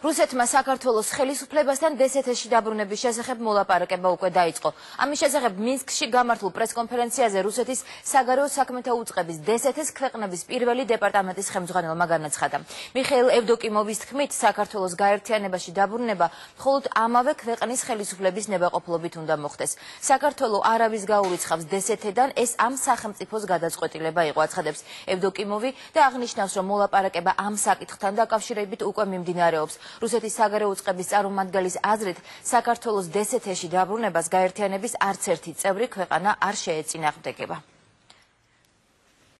რუსეთმა საქართველოს ხელისუფლებასთან დსთ-ში დაბრუნების შესახებ მოლაპარაკება უკვე დაიწყო. ამის შესახებ მინსკში გამართულ პრესკონფერენციაზე რუსეთის საგარეო საქმეთა უწყების დსთ-ს ქვეყნების პირველი დეპარტამენტის ხელმძღვანელმა განაცხადა. მიხეილ ევდოკიმოვის თქმით, საქართველოს გაერთიანებაში დაბრუნება მხოლოდ ამავე ქვეყნის ხელისუფლების ნებაყოფლობით უნდა მოხდეს. საქართველო არავის გაურიცხავს დსთ-დან, ეს ამ სახელმწიფოს გადაწყვეტილება იყო, აცხადებს ევდოკიმოვი და აღნიშნავს, რომ მოლაპარაკება ამ საკითხთან დაკავშირებით უკვე მიმდინარეობს. რუსეთის საგარეო უწყების წარმომადგენლის აზრით, საქართველოს დსთ-ში დაბრუნებას გაერთიანების არც ერთი წევრი ქვეყანა არ შეეწინააღმდეგება.